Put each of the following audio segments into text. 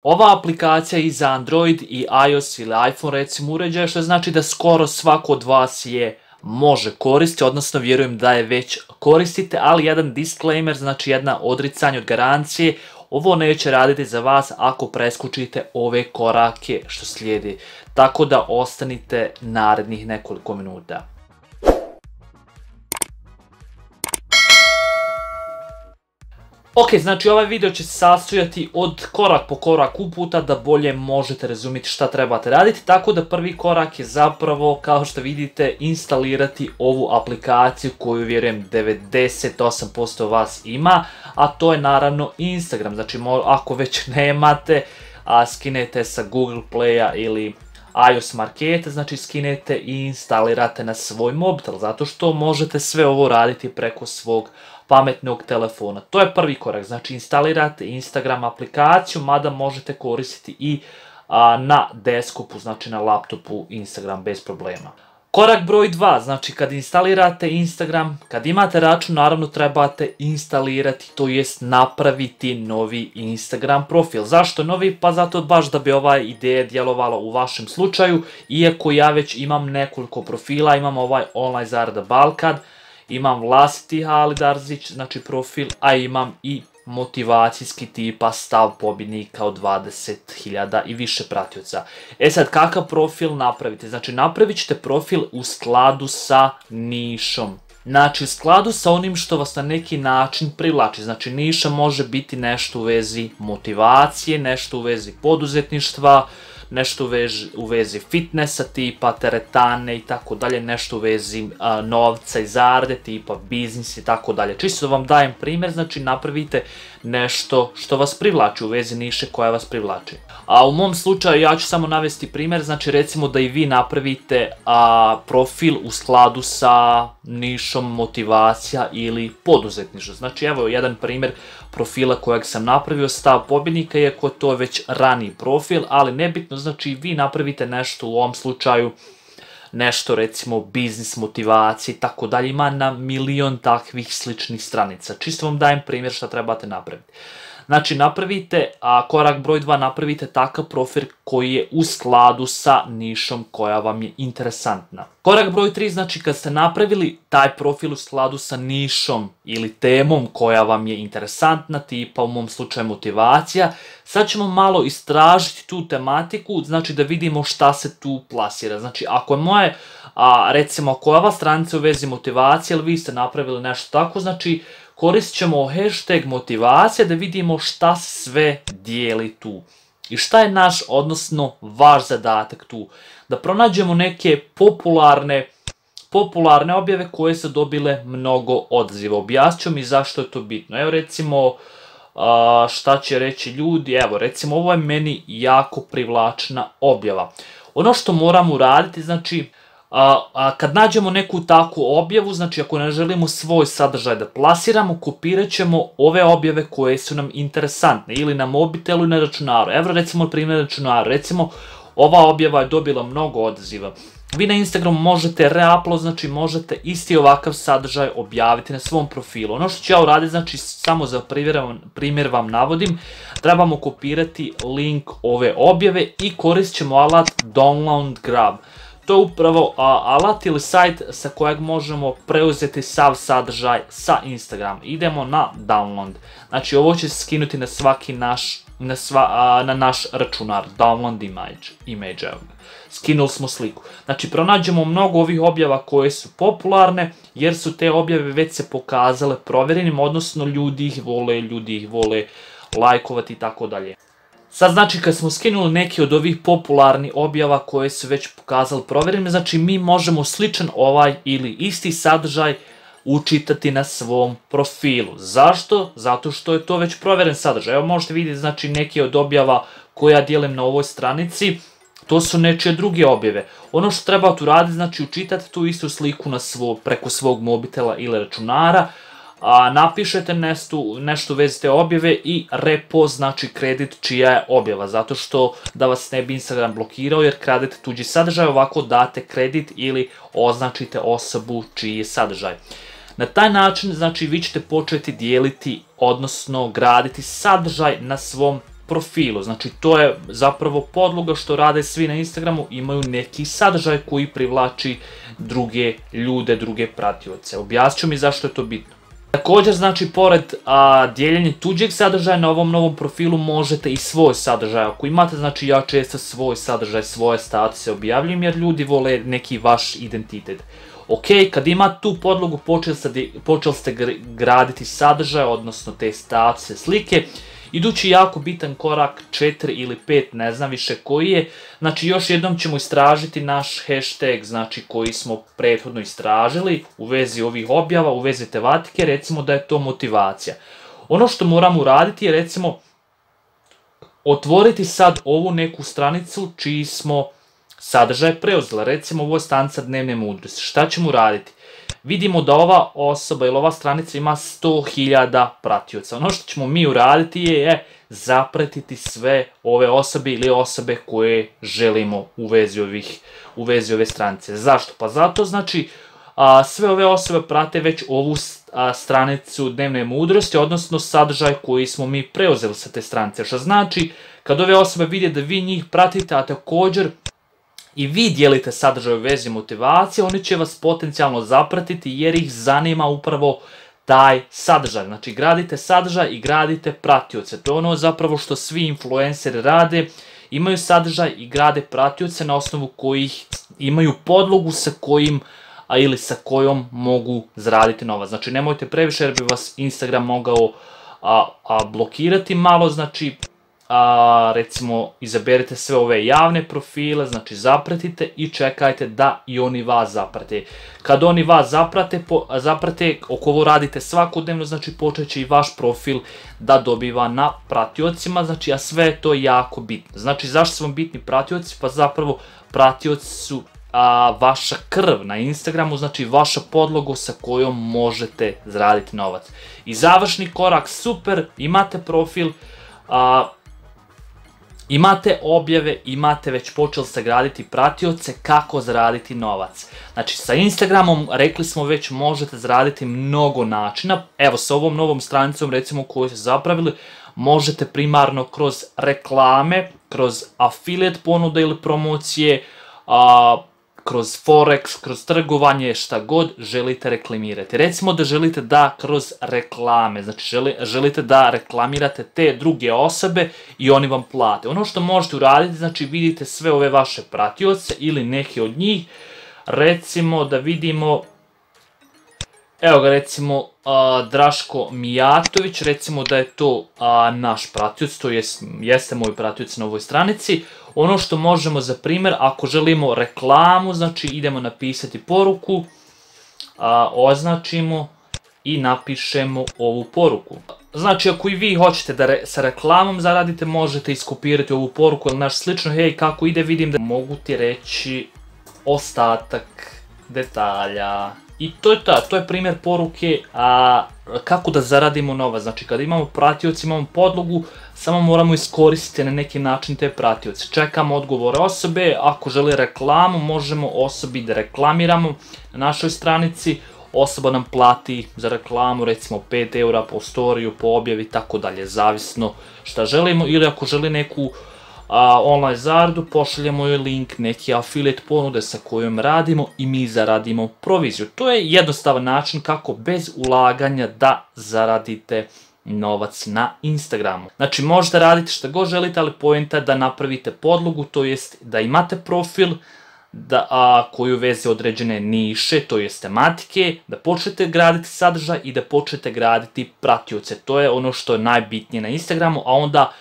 Ova aplikacija je i za Android i iOS ili iPhone recimo uređaje, što znači da skoro svako od vas je može koristiti, odnosno vjerujem da je već koristite, ali jedan disclaimer, znači jedna odricanje od garancije, ovo neće raditi za vas ako preskočite ove korake što slijedi, tako da ostanite narednih nekoliko minuta. Ok, znači ovaj video će se sastojati od korak po korak uputa da bolje možete razumjeti šta trebate raditi, tako da prvi korak je zapravo, kao što vidite, instalirati ovu aplikaciju koju vjerujem 98% vas ima, a to je naravno Instagram. Znači ako već nemate, skinete sa Google Playa ili iOS marketa, znači skinete i instalirate na svoj mobitel, zato što možete sve ovo raditi preko svog pametnog telefona. To je prvi korak, znači instalirate Instagram aplikaciju, mada možete koristiti i na desktopu, znači na laptopu Instagram bez problema. Korak broj 2, znači kad instalirate Instagram, kad imate račun, naravno trebate instalirati, to jest napraviti novi Instagram profil. Zašto novi? Pa zato baš da bi ova ideja djelovala u vašem slučaju, iako ja već imam nekoliko profila, imam ovaj Online zarada Balkan, imam vlastiti Halid Arzić, znači profil, a imam i motivacijski tipa stav pobjednika od 20.000 i više pratioca. E sad, kakav profil napravite? Znači, napravit ćete profil u skladu sa nišom. Znači, u skladu sa onim što vas na neki način privlači. Znači, niša može biti nešto u vezi motivacije, nešto u vezi poduzetništva, nešto u vezi fitnessa tipa teretane i tako dalje, nešto u vezi novca i zarade tipa biznis i tako dalje. Čisto da vam dajem primjer, znači napravite nešto što vas privlači u vezi niše koja vas privlači. A u mom slučaju ja ću samo navesti primjer, znači recimo da i vi napravite profil u skladu sa nišom motivacija ili poduzetništvo. Znači evo jedan primjer profila kojeg sam napravio, stav pobjednika, iako to je već raniji profil, ali nebitno, znači vi napravite nešto u ovom slučaju, nešto recimo biznis, motivacije i tako dalje, ima na milion takvih sličnih stranica. Čisto vam dajem primjer šta trebate napraviti. Znači napravite, korak broj 2, napravite takav profil koji je u skladu sa nišom koja vam je interesantna. Korak broj 3, znači kad ste napravili taj profil u skladu sa nišom ili temom koja vam je interesantna, tipa u mom slučaju motivacija, sad ćemo malo istražiti tu tematiku, znači da vidimo šta se tu plasira. Znači ako je moje, recimo ako je ova stranica u vezi motivacije ili vi ste napravili nešto tako, znači koristit ćemo hashtag motivacija da vidimo šta se sve dijeli tu. I šta je naš, odnosno vaš zadatak tu? Da pronađemo neke popularne objave koje su dobile mnogo odaziva. Objasnit ću mi zašto je to bitno. Evo recimo, šta će reći ljudi, evo recimo ovo je meni jako privlačna objava. Ono što moramo uraditi, znači, kad nađemo neku takvu objavu, znači ako ne želimo svoj sadržaj da plasiramo, kopirat ćemo ove objave koje su nam interesantne ili na mobitelu ili na računaru. Evo recimo primjer računaru, recimo ova objava je dobila mnogo odaziva. Vi na Instagramu možete reupload, znači možete isti ovakav sadržaj objaviti na svom profilu. Ono što ću ja uraditi, znači samo za primjer vam navodim, trebamo kopirati link ove objave i koristit ćemo alat Download Grab. To je upravo alat ili sajt sa kojeg možemo preuzeti sav sadržaj sa Instagram. Idemo na download. Znači ovo će se skinuti na svaki naš računar. Download image. Skinuli smo sliku. Znači pronađemo mnogo ovih objava koje su popularne jer su te objave već se pokazale provjerenim, odnosno ljudi ih vole lajkovati i tako dalje. Sad znači kad smo skinuli neke od ovih popularnih objava koje su već pokazali provjerenim, znači mi možemo sličan ovaj ili isti sadržaj učitati na svom profilu. Zašto? Zato što je to već provjeren sadržaj. Evo možete vidjeti znači neke od objava koje ja dijelim na ovoj stranici, to su nečije druge objave. Ono što trebate uraditi, znači učitati tu istu sliku preko svog mobitela ili računara, napišete nešto u vezi te objave i repost, znači kredit čija je objava, zato što da vas ne bi Instagram blokirao jer kradete tuđi sadržaj, ovako date kredit ili označite osobu čiji je sadržaj. Na taj način, znači, vi ćete početi dijeliti, odnosno graditi sadržaj na svom profilu. Znači to je zapravo podloga što rade svi na Instagramu, imaju neki sadržaj koji privlači druge ljude, druge pratioce. Objasnit ću mi zašto je to bitno. Također, znači, pored dijeljenja tuđeg sadržaja na ovom novom profilu možete i svoj sadržaj. Ako imate, znači, ja često svoj sadržaj, svoje statuse objavljujem jer ljudi vole neki vaš identitet. Ok, kad imate tu podlogu, počeli ste graditi sadržaj, odnosno te statuse, slike. Idući jako bitan korak, 4 ili 5, ne znam više koji je. Znači još jednom ćemo istražiti naš hashtag, znači koji smo prethodno istražili u vezi ovih objava, u vezi tematike, recimo da je to motivacija. Ono što moramo uraditi je recimo otvoriti sad ovu neku stranicu čiji smo sadržaj preuzeli. Recimo ovo je stranica dnevne mudrosti. Šta ćemo uraditi? Vidimo da ova osoba ili ova stranica ima 100.000 pratioca. Ono što ćemo mi uraditi je zapratiti sve ove osobe ili osobe koje želimo u vezi ove stranice. Zašto? Pa zato znači sve ove osobe prate već ovu stranicu dnevne mudrosti, odnosno sadržaj koji smo mi preuzeli sa te stranice. Što znači kad ove osobe vide da vi njih pratite, a također i vi dijelite sadržaj u vezi motivacije, oni će vas potencijalno zapratiti jer ih zanima upravo taj sadržaj. Znači gradite sadržaj i gradite pratioce. To je ono zapravo što svi influenceri rade. Imaju sadržaj i grade pratioce na osnovu kojih imaju podlogu sa kojim ili sa kojom mogu zaraditi novac. Znači nemojte previše jer bi vas Instagram mogao blokirati malo. Znači recimo izaberite sve ove javne profile, znači zapratite i čekajte da i oni vas zaprate. Kad oni vas zaprate, ako ovo radite svakodnevno, znači počet će i vaš profil da dobiva na pratiocima, znači a sve je to jako bitno. Znači zašto su vam bitni pratioci? Pa zapravo pratioci su vaša krv na Instagramu, znači vaša podloga sa kojom možete zaraditi novac. I završni korak, super, imate profil, imate objave, imate već počeli ste graditi pratioce, kako zaraditi novac. Znači sa Instagramom, rekli smo već, možete zaraditi mnogo načina. Evo sa ovom novom stranicom recimo koju ste zapravili, možete primarno kroz reklame, kroz affiliate ponude ili promocije, kroz forex, kroz trgovanje, šta god želite reklamirati. Recimo da želite da kroz reklame, znači želite da reklamirate te druge osobe i oni vam plate. Ono što možete uraditi, znači vidite sve ove vaše pratioce ili neke od njih. Recimo da vidimo, evo ga recimo Draško Mijatović, recimo da je to naš pratioc, to jeste moj pratioc na ovoj stranici. Ono što možemo za primjer, ako želimo reklamu, znači idemo napisati poruku, označimo i napišemo ovu poruku. Znači ako i vi hoćete da sa reklamom zaradite, možete iskopirati ovu poruku ili nešto slično. Hej, kako ide, vidim da mogu ti reći ostatak detalja. I to je primjer poruke kako da zaradimo novac. Znači kada imamo pratioci, imamo podlogu, samo moramo iskoristiti na neki način te pratioce. Čekamo odgovore osobe, ako želi reklamu možemo osobi da reklamiramo na našoj stranici. Osoba nam plati za reklamu recimo 5 eura po storiju, po objavi i tako dalje, zavisno šta želimo. Ili ako želi neku online zaradu, pošaljemo joj link neke affiliate ponude sa kojom radimo i mi zaradimo proviziju. To je jednostavan način kako bez ulaganja da zaradite novac na Instagramu. Znači možete raditi što god želite, ali poenta je da napravite podlogu, to jest da imate profil koji uveze određene niše, to jest tematike, da počnete graditi sadržaj i da počnete graditi pratioce. To je ono što je najbitnije na Instagramu, a onda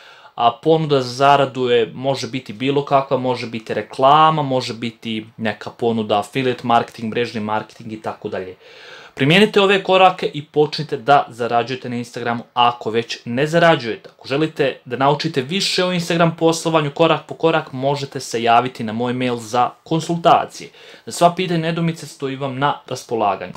ponuda za zaradu može biti bilo kakva, može biti reklama, može biti neka ponuda affiliate marketing, mrežni marketing i tako dalje. Primijenite ove korake i počnite da zarađujete na Instagramu ako već ne zarađujete. Ako želite da naučite više o Instagram poslovanju korak po korak, možete se javiti na moj mail za konsultacije. Za sva pitanja i nedoumice stojim vam na raspolaganju.